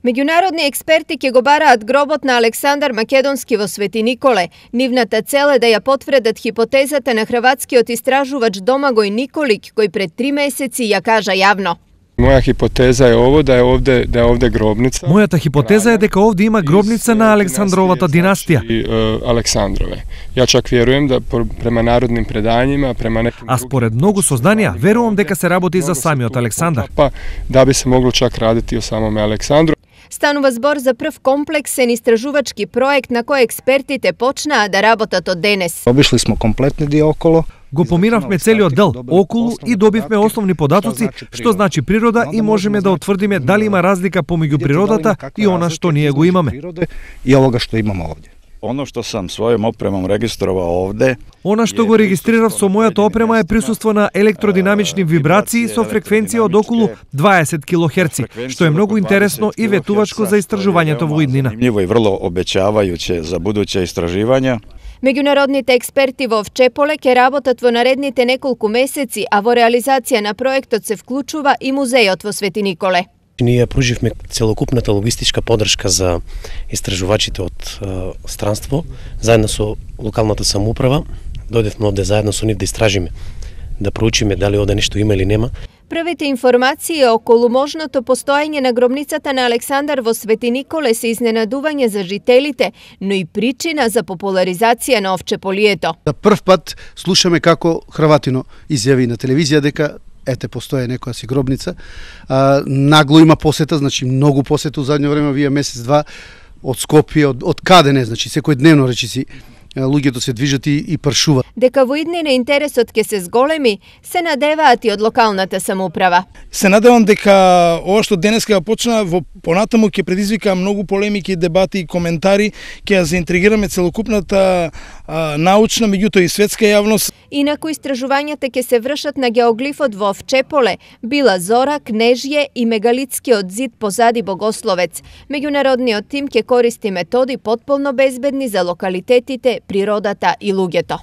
Меѓународни експерти ќе го бараат гробот на Александар Македонски во Свети Николе. Нивната цел е да ја потврдат хипотезата на хрватскиот истражувач Домагој Николик, кој пред 3 месеци ја кажа јавно. Моја хипотеза е ово да е овде гробница. Мојата хипотеза е дека овде има гробница на Александровата династија. Александрове. Ја чак верувам да према народним предањима, према неким А според многу сознанија, верувам дека се работи за самиот Александар. Па да би се могло чак радити о самоме Александру. Станува збор за прв комплексен истражувачки проект на кој експертите почнаа да работат од денес. Обишли смо комплетни ди около. Го поминавме целиот дел околу и добивме основни податоци што значи природа и можеме да утврдиме дали има разлика помеѓу природата и она што ние го имаме. И овога што имаме овде. Оно што сам својом опремом регистровao овде. Она што го регистрирав со мојата опрема е присуство на електродинамични вибрации со фреквенција од околу 20 килохерци, што е многу интересно и ветувачко за истражувањето во иднина. Ниво и врло обеќавајуќе за будуće истраживања. Меѓународните експерти во Овчеполе ќе работат во наредните неколку месеци, а во реализација на проектот се вклучува и музејот во Свети Николе. Ние пруживме целокупната логистичка поддршка за истражувачите од странство, заедно со локалната самоуправа. Дојдевме овде заедно со нив да истражиме, да проучиме дали овде нешто има или нема. Првите информации околу можното постоење на гробницата на Александар во Свети Николе се изненадување за жителите, но и причина за популаризација на Овчеполието. За прв пат слушаме како Хрватино изјави на телевизија дека ете постои некоја си гробница. Нагло има посета, значи многу посета у задњо време, овие месец-два од Скопје, од каде не, значи секој дневно речиси луѓето се движат и пршуваат. Дека во иднина интересот ќе се зголеми, се надеваат и од локалната самоуправа. Се надевам дека ова што денеска ја почна во понатаму ќе предизвика многу полемики, дебати и коментари, ќе ја заинтригираме целокупната научна, меѓутоа и светска јавност. Инаку истражувањата ќе се вршат на геоглифот во Овчеполе, Била Зора, Кнежје и мегалитскиот зид позади Богословец. Меѓународниот тим ќе користи методи потполно безбедни за локалитетите, природата и луѓето.